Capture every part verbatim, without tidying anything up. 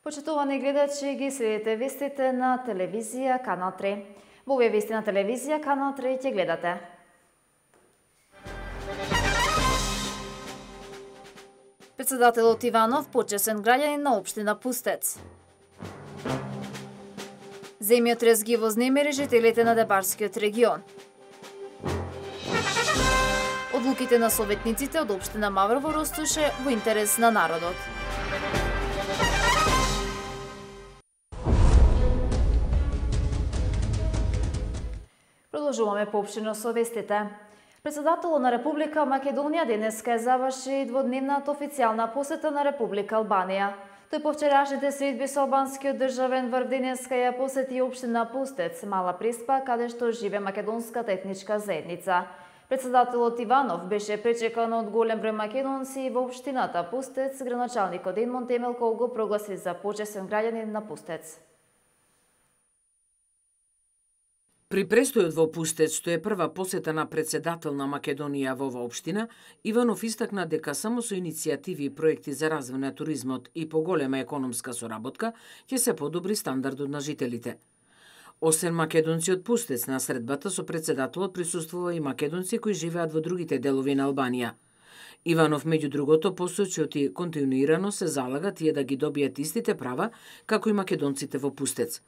Почитувани гледачи, ги следите вестите на телевизија Канал три. Во овие вести на телевизија Канал три ќе гледате. Председателот Иванов почесен граѓанин на општина Пустец. Земјотрес ги вознемери жителите на Дебарскиот регион. Одлуките на советниците од општина Маврово ростуше во интерес на народот. Продолжуваме поопштено со вестите. Председателот на Република Македонија денеска заврши дводневната официјална посета на Република Албанија. Тој по вчерашните средби со албанскиот државен врв денеска ја посети општина Пустец, Мала Преспа, каде што живе македонската етничка заедница. Председателот Иванов беше пречекан од голем број македонци во општината Пустец. Градоначалникот Едмон Темелков го прогласи за почесен граѓанин на Пустец. При престојот во Пустец, што е прва посета на председател на Македонија во оваа општина, Иванов истакна дека само со иницијативи и проекти за развој на туризмот и поголема економска соработка ќе се подобри стандардот на жителите. Освен македонци од Пустец, на средбата со председателот присуствува и македонци кои живеат во другите делови на Албанија. Иванов, меѓу другото, посочи оти континуирано се залага тие да ги добијат истите права како и македонците во Пустец.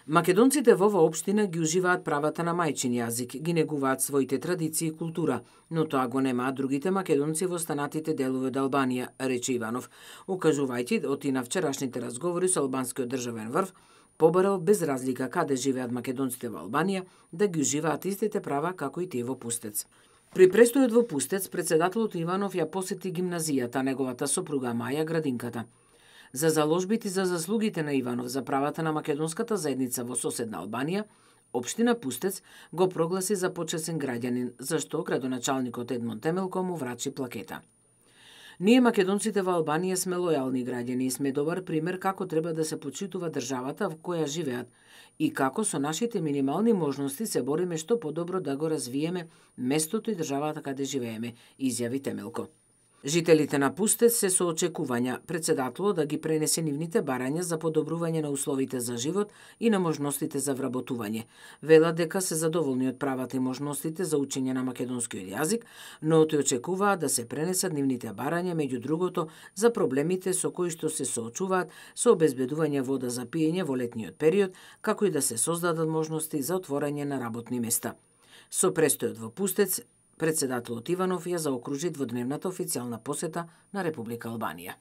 Македонците во оваа општина ги уживаат правата на мајчин јазик, ги негуваат своите традиции и култура, но тоа го немаат другите македонци во останатите делови од Албанија, рече Иванов, укажувајќи оти на вчерашните разговори со албанскиот државен врв, побарал без разлика каде живеат македонците во Албанија да ги уживаат истите права како и тие во Пустец. При престојот во Пустец, председателот Иванов ја посети гимназијата, неговата сопруга Маја, градинката. За заложбите за заслугите на Иванов за правата на македонската заедница во соседна Албанија, општина Пустец го прогласи за почесен граѓанин, зашто градоначалникот Едмон Темелко му врачи плакета. Ние македонците во Албанија сме лојални граѓани и сме добар пример како треба да се почитува државата во која живеат и како со нашите минимални можности се бориме што подобро да го развиеме местото и државата каде живееме, изјави Темелко. Жителите на Пустец се со очекувања председателот да ги пренесе нивните барања за подобрување на условите за живот и на можностите за вработување. Велат дека се задоволни од правата и можностите за учење на македонскиот јазик, но тој очекуваат да се пренесат нивните барања, меѓу другото, за проблемите со кои што се соочуваат со обезбедување вода за пиење во летниот период, како и да се создадат можности за отворање на работни места. Со престојот во Пустец, председателот Иванов ја заокружи дводневната официјална посета на Република Албанија.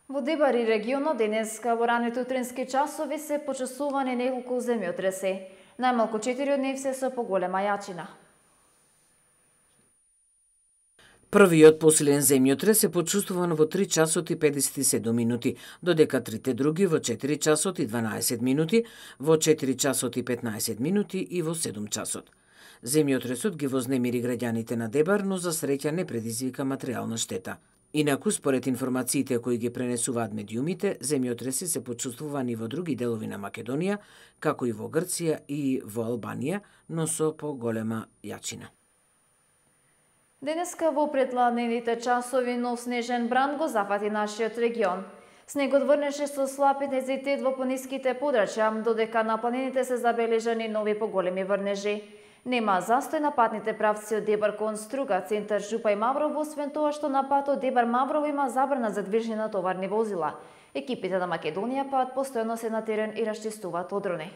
Во Дебар и регионот денеска во раните утрински часови се почесувани неколку земјотреси. Најмалку четири од нив се со поголема јачина. Првиот посилен земјотрес е почувствуван во три часот и педесет и седум минути, додека трите други во четири часот и дванаесет минути, во четири часот и петнаесет минути и во седум часот. Земјотресот ги вознемири граѓаните на Дебар, но за среќа не предизвика материјална штета. Инаку, според информациите кои ги пренесуваат медиумите, земјотреси се почувствувани во други делови на Македонија, како и во Грција и во Албанија, но со поголема јачина. Денеска во предладневите часови нов снежен бран го зафати нашиот регион. Снегот врнеше со слаб интензитет во планинските подрачја, додека на планините се забележани нови поголеми врнежи. Нема застој на патните правци од Дебар кон Струга, центар Жупа и Маврово, освен тоа што на патот Дебар Маврово има забрана за движење на товарни возила. Екипите на Македонија пат постојано се на терен и расчистуваат одрони.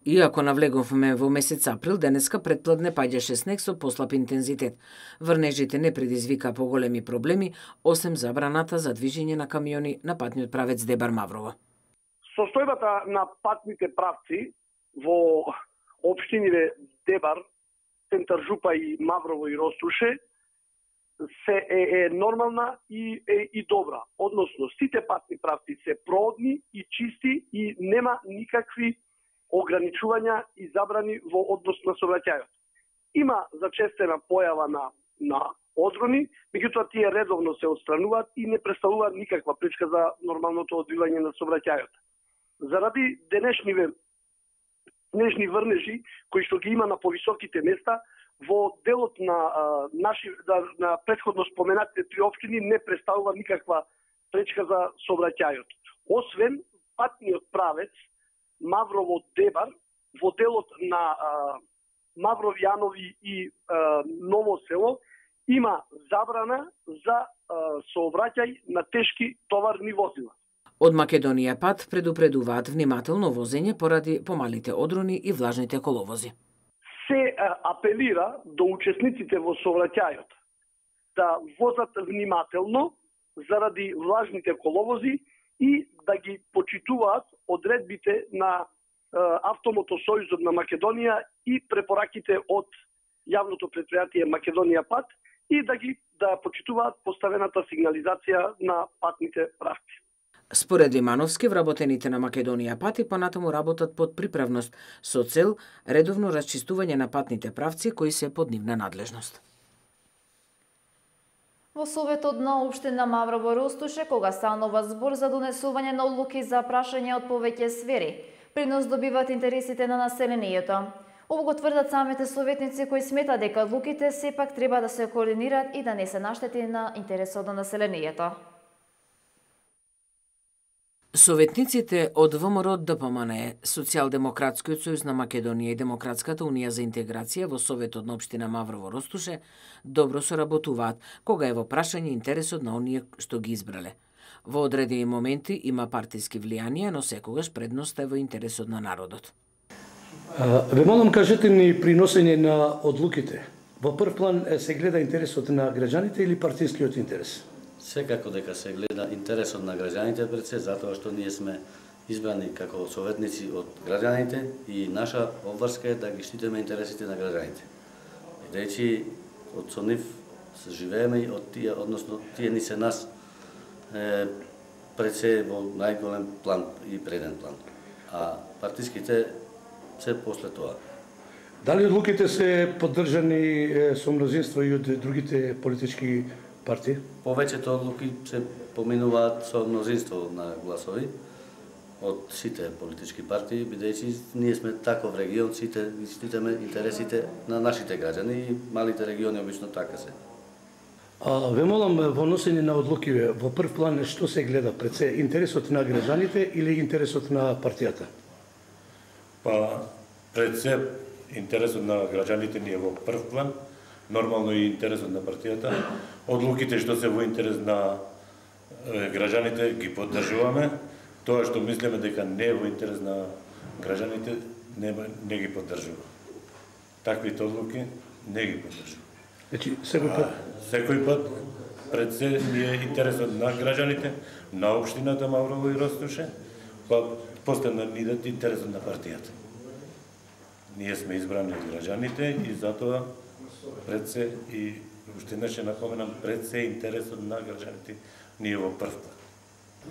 Иако навлеговме во месец април, денеска предпладне паѓаше снег со послаб интензитет. Врнежите не предизвика поголеми проблеми, осем забраната за движење на камиони на патниот правец Дебар Маврово. Состојбата на патните правци во општините Дебар, центар Жупа и Маврово и Ростуше се е, е нормална и е и добра. Односно, сите патни правци се проодни и чисти и нема никакви ограничувања и забрани во однос на сообраќајот. Има зачестена појава на на одрони, меѓутоа тие редовно се отстрануваат и не представуваат никаква пречка за нормалното одвивање на сообраќајот. Заради денешниве снежни врнежи кои што ги има на повисоките места, во делот на а, наши на, на претходно споменатите три општини не представува никаква пречка за сообраќајот. Освен патниот правец Маврово-Дебар во делот на а, Маврово-Јанови и а, Ново село има забрана за а, сообраќај на тешки товарни возила. Од Македонија пат предупредуваат внимателно возење поради помалите одрони и влажните коловози. Се а, апелира до учесниците во сообраќајот да возат внимателно заради влажните коловози и да ги почитуваат одредбите на Автомотосојузот на Македонија и препораките од јавното претпријатие Македонија пат и да ги да почитуваат поставената сигнализација на патните правци. Според Лимановски, вработените на Македонија пат и понатаму работат под приправност со цел редовно расчистување на патните правци кои се под нивна надлежност. Во Советот на општина Маврово Ростуше, кога станува збор за донесување на одлуки за прашање од повеќе сфери, принос добиваат интересите на населението. Ово го тврдат самите советници кои сметат дека одлуките сепак треба да се координираат и да не се наштети на интересот на населението. Советниците од ВМРО ДПМН, Социјалдемократскиот сојуз на Македонија и Демократската унија за интеграција во Советот на општина Маврово Ростуше добро соработуваат кога е во прашање интересот на оние што ги избрале. Во одредени моменти има партиски влијанија, но секогаш предност е во интересот на народот. Ве молам, кажете ни приносење на одлуките. Во прв план се гледа интересот на граѓаните или партискиот интерес? Секако дека се гледа интересот на граѓаните пред се, затоа што ние сме избрани како советници од граѓаните и наша обврска е да ги штитиме интересите на граѓаните. Бидејќи од со нив се живееме и од тие, односно тие ни се нас е, пред се во најголем план и преден план. А партиските се после тоа. Дали одлуките се поддржани со мнозинство и од другите политички партии? Повеќето одлуки се поминуваат со мнозинство на гласови од сите политички партии, бидејќи ние сме таков регион, сите штитиме интересите на нашите граѓани и малите региони обично така се. А, ве молам, во носење на одлуки, во прв план што се гледа пред се, интересот на граѓаните или интересот на партијата? Па, пред се интересот на граѓаните ни е во прв план, нормално и интересот на партијата. Одлуките што се во интерес на граѓаните ги поддржуваме. Тоа што мислиме дека не е во интерес на граѓаните, не, не ги поддржува. Таквите одлуки не ги поддржува. Значи, секој пат? Секој пат пред се ни е интересот на граѓаните, на општината Маврово и Ростуше, па после на нидат интересот на партијата. Ние сме избрани од граѓаните и затоа пред се и уште не ќе напоменам пред се интересот на граѓаните ние во прв план.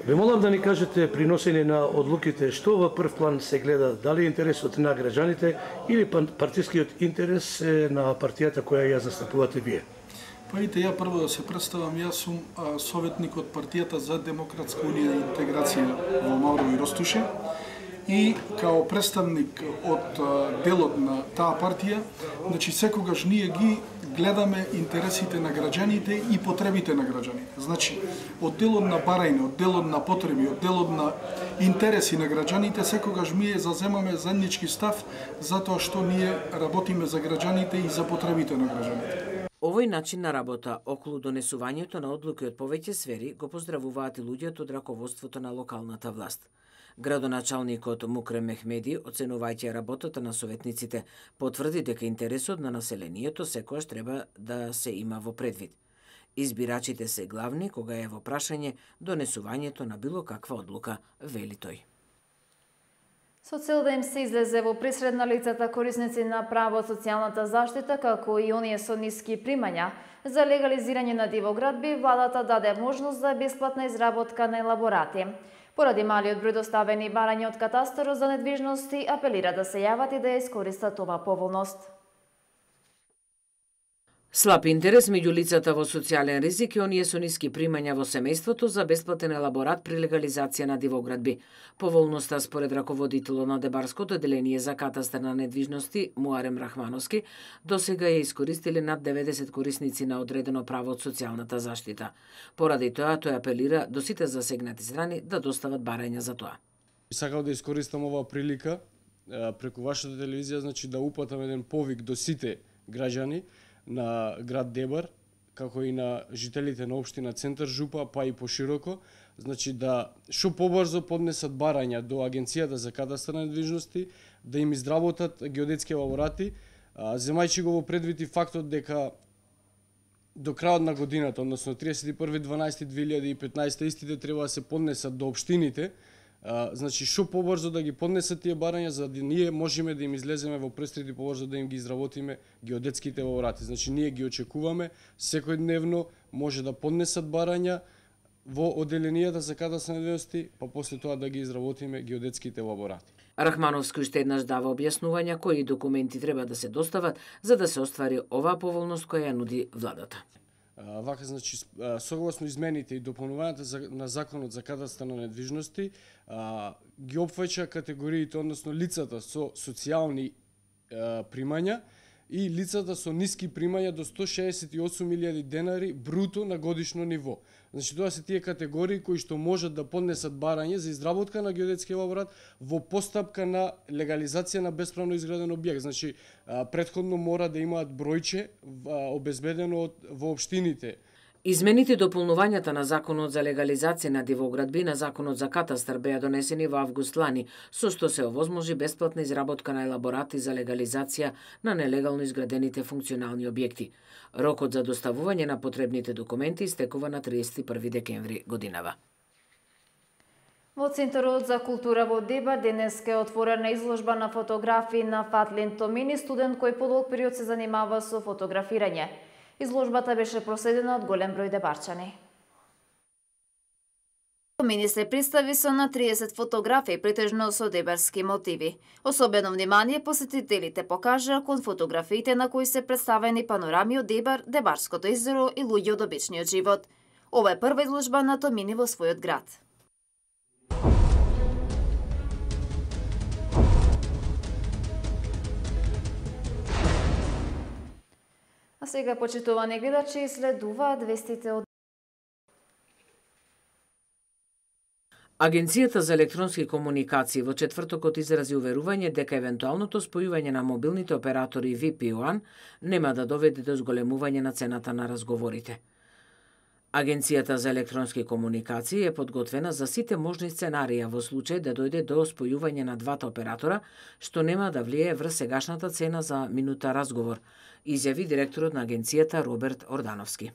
Ве молам да ни кажете при носење на одлуките што во прв план се гледа, дали интересот на граѓаните или партискиот интерес на партијата која ја застапувате вие? Па ите, ја прво да се представам, јас сум а, советник од партијата за Демократска унија и интеграција во Маврово и Ростуше и као представник од а, делот на таа партија, значи секогаш ние ги гледаме интересите на граѓаните и потребите на граѓаните. Значи, од делот на барање, од делот на потреби, од делот на интереси на граѓаните, секогаш ние заземаме заеднички став затоа што ние работиме за граѓаните и за потребите на граѓаните. Овој начин на работа околу донесувањето на одлуки од повеќе сфери го поздравуваат и луѓето од раководството на локалната власт. Градоначалникот Мукрем Мехмеди, оценувајќи работата на советниците, потврди дека интересот на населението секогаш треба да се има во предвид. Избирачите се главни кога е во прашање донесувањето на било каква одлука, вели тој. Со цел да им се излезе во присред на лицата корисници на право од социјалната заштита, како и оние со ниски примања, за легализирање на дивоградби, владата даде можност за бесплатна изработка на елаборати. Поради малиот број доставени барања од катастарот за недвижности, апелира да се јават и да ја искористат ова поволност. Слаб интерес меѓу лицата во социјален ризик и оние со ниски примања во семејството за бесплатен елаборат при легализација на дивоградби. Поволноста според раководителот на Дебарското одделение за катастар на недвижности Муарем Рахмановски досега ја искористиле над деветдесет корисници на одредено право од социјалната заштита. Поради тоа, тој апелира до сите засегнати страни да достават барања за тоа. Сакав да искористам оваа прилика преку вашата телевизија, значи да упатам еден повик до сите граѓани на град Дебар, како и на жителите на општина Центар Жупа, па и пошироко, значи да што побрзо поднесат барања до Агенцијата за катастар на недвижности, да им изработат геодетски елаборати, земајќи го во предвид и фактот дека до крајот на годината, односно триесет и први дванаести две илјади и петнаесета, истите треба да се поднесат до општините. А, значи, што побрзо да ги поднесат тие барања, за да ние можеме да им излеземе во престрит и побрзо да им ги изработиме геодетските елаборати. Значи, ние ги очекуваме секојдневно, може да поднесат барања во одделенијата за катастар на недвижности, па после тоа да ги изработиме геодетските елаборати. Рахмановски уште еднаш дава објаснувања кои документи треба да се достават за да се оствари оваа поволност која ја нуди владата. Вака, значи, согласно измените и дополнувањата на Законот за катастар на недвижности, ги опфаќа категориите, односно лицата со социјални примања и лицата со ниски примања до сто шеесет и осум илјади денари бруто на годишно ниво. Значи, тоа се тие категории кои што можат да поднесат барање за изработка на геодетски елаборат во постапка на легализација на бесправно изграден објект. Значи, претходно мора да имаат бројче обезбедено во општините. Измените и дополнувањата на Законот за легализација на дивоградби на Законот за катастар беа донесени во август лани, со што се овозможи бесплатна изработка на елаборати за легализација на нелегално изградените функционални објекти. Рокот за доставување на потребните документи истекува на триесет и први декември годинава. Во Центарот за култура во Дебар денеска е отворена изложба на фотографии на Фатлин Томини, студент кој подолг период се занимава со фотографирање. Изложбата беше проследена од голем број дебарчани. Томини се представи со на триесет фотографии, претежно со дебарски мотиви. Особено внимание посетителите покажаа кон фотографиите на кои се представени панорами од Дебар, Дебарското езеро и луѓе од обичниот живот. Ова е прва изложба на Томини во својот град. А сега, почитувани гледачи, следуваат вестите од Агенцијата за електронски комуникации во четвртокот изрази уверување дека евентуалното спојување на мобилните оператори ви пи еден нема да доведе до зголемување на цената на разговорите. Агенцијата за електронски комуникации е подготвена за сите можни сценарија во случај да дојде до спојување на двата оператора, што нема да влијае врз сегашната цена за минута разговор, изјави директорот на агенцијата Роберт Ордановски.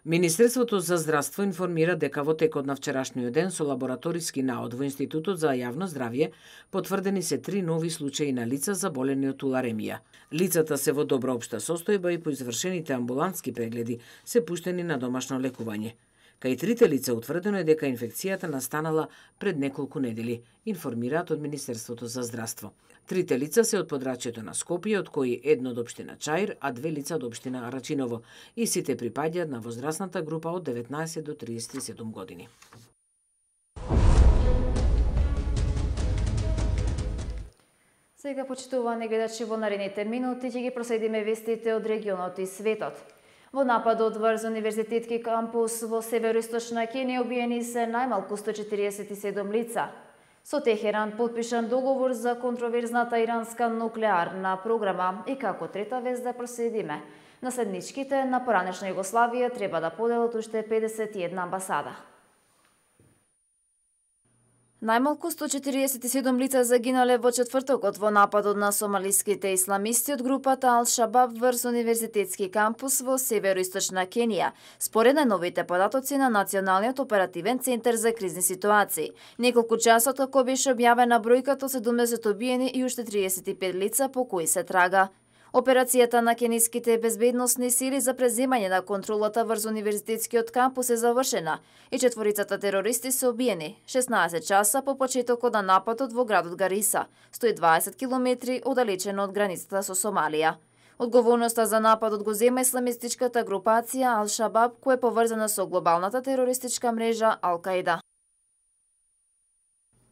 Министерството за здравство информира дека во текот на вчерашниот ден со лабораториски наод во Институтот за јавно здравје потврдени се три нови случаи на лица заболени од туларемија. Лицата се во добра општа состојба и по извршените амбулантски прегледи се пуштени на домашно лекување. Кај трите лица утврдено е дека инфекцијата настанала пред неколку недели, информираат од Министерството за здравство. Трите лица се од подрачјето на Скопје, од кои едно од општина Чаир, а две лица од општина Арачиново, и сите припаѓаат на возрастната група од деветнаесет до триесет и седум години. Сега, почитувани гледачи, во наредните минути ќе ги проследиме вестите од регионот и светот. Во нападот врз универзитетски кампус во североисточна Кенија убиени се најмалку сто четириесет и седум лица. Со Техеран потпишан договор за контроверзната иранска нуклеарна програма и како трета вест да проследиме. Наследничките на поранешна Југославија треба да поделат уште педесет и една амбасада. Најмалку сто четириесет и седум лица загинале во четвртокот во нападот на сомалиските исламисти од групата Ал-Шабаб врз универзитетски кампус во североисточна Кенија, според најновите податоци на Националниот оперативен центар за кризни ситуации. Неколку часа како беше објавена бројката од седумдесет убиени и уште триесет и пет лица по кои се трага. Операцијата на кениските безбедносни сили за преземање на контролата врз универзитетскиот кампус е завршена и четворицата терористи се убиени шеснаесет часа по почетокот на нападот во градот Гариса, сто и дваесет километри оддалечено од границата со Сомалија. Одговорноста за нападот го зема исламистичката групација Ал-Шабаб, која е поврзана со глобалната терористичка мрежа Ал-Каида.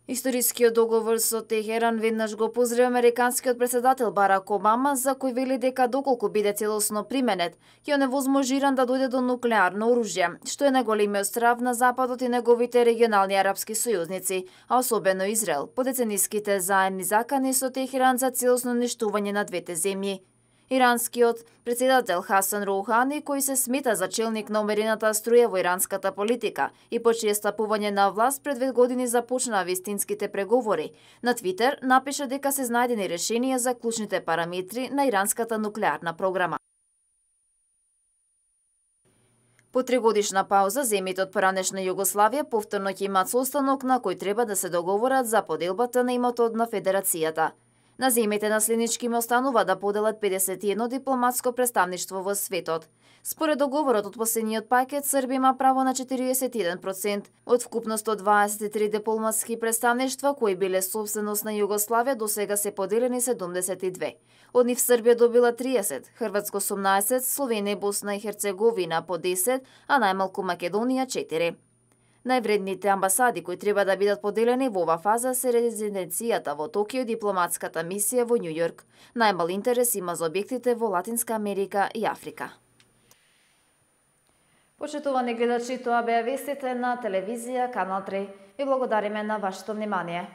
Историскиот договор со Техеран веднаш го поздрави американскиот председател Барак Обама, за кој вели дека доколку биде целосно применет, ќе оневозможи Иран да дојде до нуклеарно оружје, што е најголемиот страв на Западот и неговите регионални арапски сојузници, а особено Израел, по децениските заедни закани со Техеран за целосно уништување на двете земји. Иранскиот председател Хасан Роухани, кој се смета за челник на умерената струја во иранската политика и по чие стапување на власт пред две години започнаа вистинските преговори, на Твитер напиша дека се знајдени решенија за клучните параметри на иранската нуклеарна програма. По тригодишна пауза, земјите од поранешна Југославија повторно ќе имаат состанок на кој треба да се договорат за поделбата на имотот на Федерацијата. На земјите наследнички им останува да поделат педесет и едно дипломатско представништво во светот. Според договорот од последниот пакет, Србија има право на четириесет и еден процент од вкупно сто дваесет и три дипломатски представништва кои биле собственост на Југославија, до сега се поделени седумдесет и две. Од нив Србија добила триесет, Хрватска осумнаесет, Словенија и Босна и Херцеговина по десет, а најмалку Македонија четири. Највредните амбасади кои треба да бидат поделени во ова фаза се резиденцијата во Токио и дипломатската мисија во Њу Јорк. Најмал интерес има за објектите во Латинска Америка и Африка. Почитувани гледачи, тоа беа вестите на телевизија Канал три. Ви благодариме на вашето внимание.